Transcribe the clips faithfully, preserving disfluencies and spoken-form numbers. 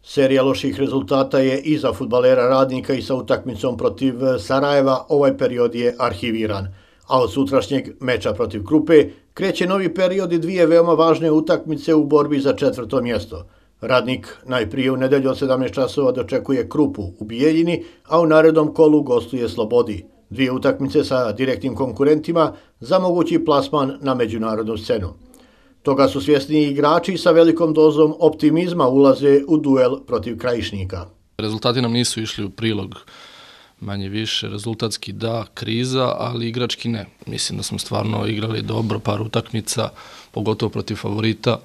Serija loših rezultata je i za fudbalera Radnika i sa utakmicom protiv Sarajeva ovaj period je arhiviran. A od sutrašnjeg meča protiv Krupe kreće novi period i dvije veoma važne utakmice u borbi za četvrto mjesto. Radnik najprije u nedelju od sedamnaest časova dočekuje Krupu u Bijeljini, a u narednom kolu gostuje Slobodi. Dvije utakmice sa direktnim konkurentima za mogući plasman na međunarodnu scenu. Toga su svjesni i igrači sa velikom dozom optimizma ulaze u duel protiv Krajišnika. Rezultati nam nisu išli u prilog, manje više, rezultatski da, kriza, ali igrački ne. Mislim da smo stvarno igrali dobro par utakmica, pogotovo protiv favorita,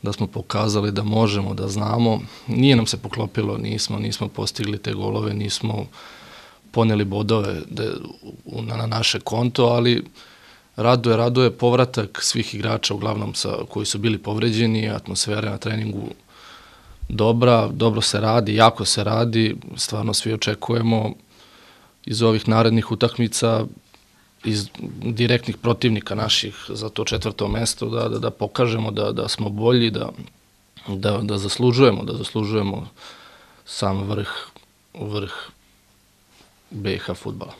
da smo pokazali da možemo, da znamo. Nije nam se poklopilo, nismo, nismo postigli te golove, nismo poneli bodove na naše konto, ali raduje, raduje povratak svih igrača, uglavnom sa, koji su bili povređeni, atmosfera na treningu dobra, dobro se radi, jako se radi, stvarno svi očekujemo iz ovih narednih utakmica, iz direktnih protivnika naših za to četvrto mesto, da, da, da pokažemo da, da smo bolji, da, da, da zaslužujemo, da zaslužujemo sam vrh, vrh B iH fudbala.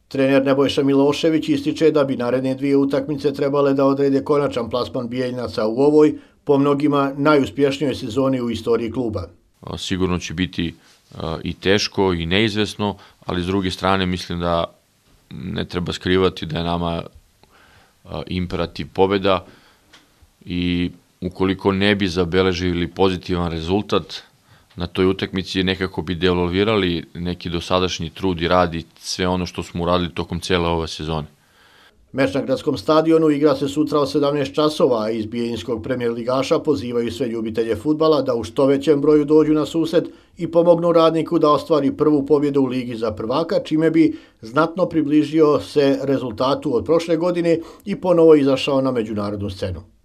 Trener Nebojša Milošević ističe da bi naredne dvije utakmice trebale da odrede konačan plasman Bijeljinaca u ovoj, po mnogima, najuspješnijoj sezoni u istoriji kluba. Sigurno će biti i teško i neizvesno, ali s druge strane mislim da ne treba skrivati da je nama imperativ pobjeda i ukoliko ne bi zabeležili pozitivan rezultat na toj utakmici nekako bi devalvirali neki dosadašnji trud i rad i sve ono što smo uradili tokom cijele ove sezone. Meč na gradskom stadionu igra se sutra od sedamnaest časova, a iz bijeljinskog premijer ligaša pozivaju sve ljubitelje fudbala da u što većem broju dođu na susret i pomognu Radniku da ostvari prvu pobjedu u Ligi za prvaka, čime bi znatno približio se rezultatu od prošle godine i ponovo izašao na međunarodnu scenu.